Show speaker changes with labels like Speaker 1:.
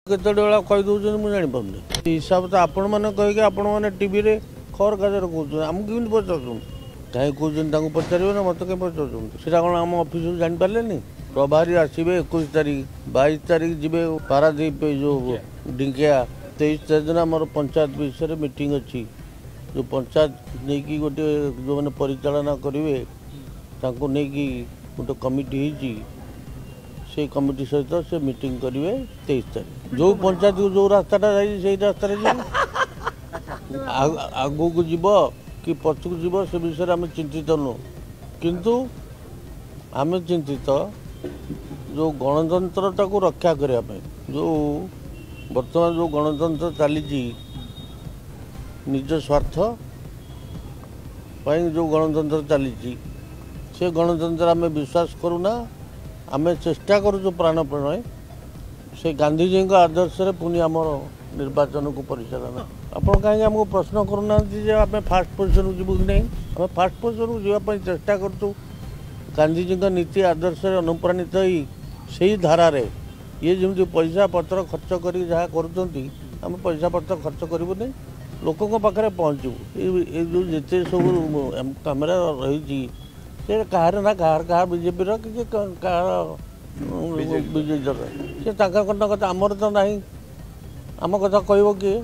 Speaker 1: କେତେବେଳେ ବେଳା କହିଦେଉଛନ୍ତି, ମୁଁ ଜାଣିପାରୁନି। ହିସାବ ତ ଆପଣମାନେ କହିକି ଆପଣମାନେ ଟିଭିରେ ଖବରକାଗଜରେ କହୁଛନ୍ତି, ଆମକୁ କେମିତି ପଚାରୁଛନ୍ତି? କାହିଁ କହୁଛନ୍ତି ତାଙ୍କୁ ପଚାରିବେ ନା, ମୋତେ କାହିଁ ପଚାରୁଛନ୍ତି? ସେଇଟା କ'ଣ ଆମ ଅଫିସରୁ ଜାଣିପାରିଲେନି? ପ୍ରଭାରୀ ଆସିବେ 21 ତାରିଖ, 22 ତାରିଖ ଯିବେ ପାରାଦ୍ୱୀପ, ଏଇ ଯେଉଁ ଢିଙ୍କିଆ। 23 ତାରିଖ ଦିନ ଆମର ପଞ୍ଚାୟତ ବିଷୟରେ ମିଟିଂ ଅଛି। ଯେଉଁ ପଞ୍ଚାୟତ ନେଇକି ଗୋଟିଏ ଯେଉଁମାନେ ପରିଚାଳନା କରିବେ ତାଙ୍କୁ ନେଇକି ଗୋଟେ କମିଟି ହେଇଛି, ସେଇ କମିଟି ସହିତ ସେ ମିଟିଂ କରିବେ 23 ତାରିଖ। ଯେଉଁ ପଞ୍ଚାୟତକୁ ଯେଉଁ ରାସ୍ତାଟା ଯାଇଛି ସେଇ ରାସ୍ତାରେ ଯିବ, ଆଗକୁ ଯିବ କି ପଛକୁ ଯିବ ସେ ବିଷୟରେ ଆମେ ଚିନ୍ତିତ ନୁହଁ। କିନ୍ତୁ ଆମେ ଚିନ୍ତିତ ଯେଉଁ ଗଣତନ୍ତ୍ରଟାକୁ ରକ୍ଷା କରିବା ପାଇଁ, ଯେଉଁ ବର୍ତ୍ତମାନ ଯେଉଁ ଗଣତନ୍ତ୍ର ଚାଲିଛି, ନିଜ ସ୍ୱାର୍ଥ ପାଇଁ ଯେଉଁ ଗଣତନ୍ତ୍ର ଚାଲିଛି, ସେ ଗଣତନ୍ତ୍ର ଆମେ ବିଶ୍ୱାସ କରୁନା। ଆମେ ଚେଷ୍ଟା କରୁଛୁ ପ୍ରାଣପଣେ ସେ ଗାନ୍ଧିଜୀଙ୍କ ଆଦର୍ଶରେ ପୁଣି ଆମର ନିର୍ବାଚନକୁ ପରିଚାଳନା। ଆପଣ କାହିଁକି ଆମକୁ ପ୍ରଶ୍ନ କରୁନାହାନ୍ତି ଯେ ଆମେ ଫାଷ୍ଟ ପୋଜିସନକୁ ଯିବୁ କି ନାହିଁ? ଆମେ ଫାଷ୍ଟ ପୋଜିସନକୁ ଯିବା ପାଇଁ ଚେଷ୍ଟା କରୁଛୁ। ଗାନ୍ଧିଜୀଙ୍କ ନୀତି ଆଦର୍ଶରେ ଅନୁପ୍ରାଣିତ ହୋଇ ସେଇ ଧାରାରେ ଇଏ ଯେମିତି ପଇସା ପତ୍ର ଖର୍ଚ୍ଚ କରିକି ଯାହା କରୁଛନ୍ତି, ଆମେ ପଇସା ପତ୍ର ଖର୍ଚ୍ଚ କରିବୁନି, ଲୋକଙ୍କ ପାଖରେ ପହଞ୍ଚିବୁ। ଏଇ ଯେଉଁ ଯେତେ ସବୁ କ୍ୟାମେରା ରହିଛି ସେ କାହାର ନା କାହାର, କାହା ବିଜେପିର କି କାହାର ବିଜେଡ଼ିର, ସେ ତାଙ୍କ କଥା, ଆମର ତ ନାହିଁ। ଆମ କଥା କହିବ କିଏ?